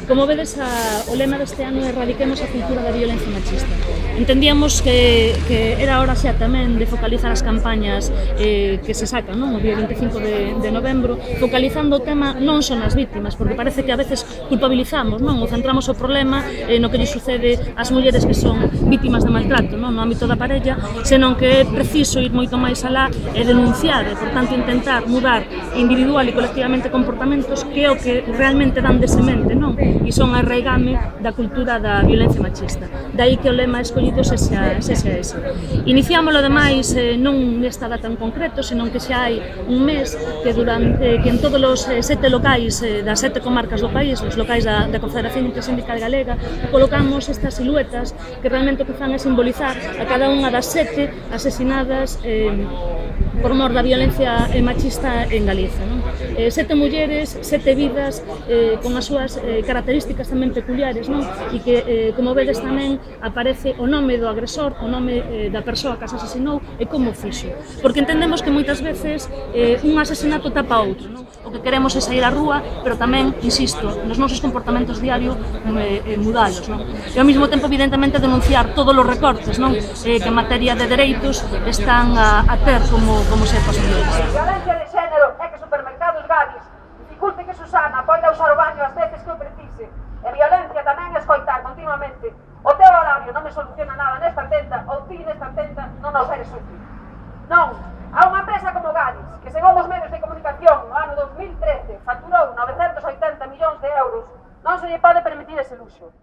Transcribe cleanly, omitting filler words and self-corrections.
Como vedes, o lema deste ano é erradiquemos a cultura da violencia machista. Entendíamos que era hora xa tamén de focalizar as campañas que se sacan, non? O día 25 de novembro, focalizando o tema non son as vítimas, porque parece que a veces culpabilizamos, non? O centramos o problema no que lle sucede ás mulleres que son vítimas de maltrato, non? No ámbito da parella, senón que é preciso ir moito máis alá e denunciar, e, por tanto, intentar mudar individual e colectivamente comportamentos que é o que realmente dan de semente, non? E son a arraigame da cultura da violencia machista. Daí que o lema escollido sexa ese. Iniciámoslo, ademais, non nesta data en concreto, senón que xa hai un mes que en todos os 7 locais das 7 comarcas do país, os locais da Confederación Intersindical Galega, colocamos estas siluetas que realmente o que fan é simbolizar a cada unha das 7 asesinadas por mor da violencia machista en Galiza. 7 mulleres, 7 vidas, con as súas características tamén peculiares, e que, como vedes, tamén aparece o nome do agresor, o nome da persoa que as asasinou e como fixo. Porque entendemos que moitas veces un asesinato tapa outro. O que queremos é sair á rúa, pero tamén, insisto, nos nosos comportamentos diarios mudalos. E ao mesmo tempo, evidentemente, denunciar todos os recortes que en materia de dereitos están a ter como ser posibles. Violencia de xénero é que supermercados Gadis dificulte que Susana poida usar o baño as veces que o precise. E violencia tamén é escoitar continuamente: o teu horario non me soluciona nada nesta tenda, ou ti nesta tenda non nos eres útil. Non, a unha empresa como Gadis, que según os medios de comunicación no ano 2013 facturou 980 millóns de euros, non se lle pode permitir ese luxo.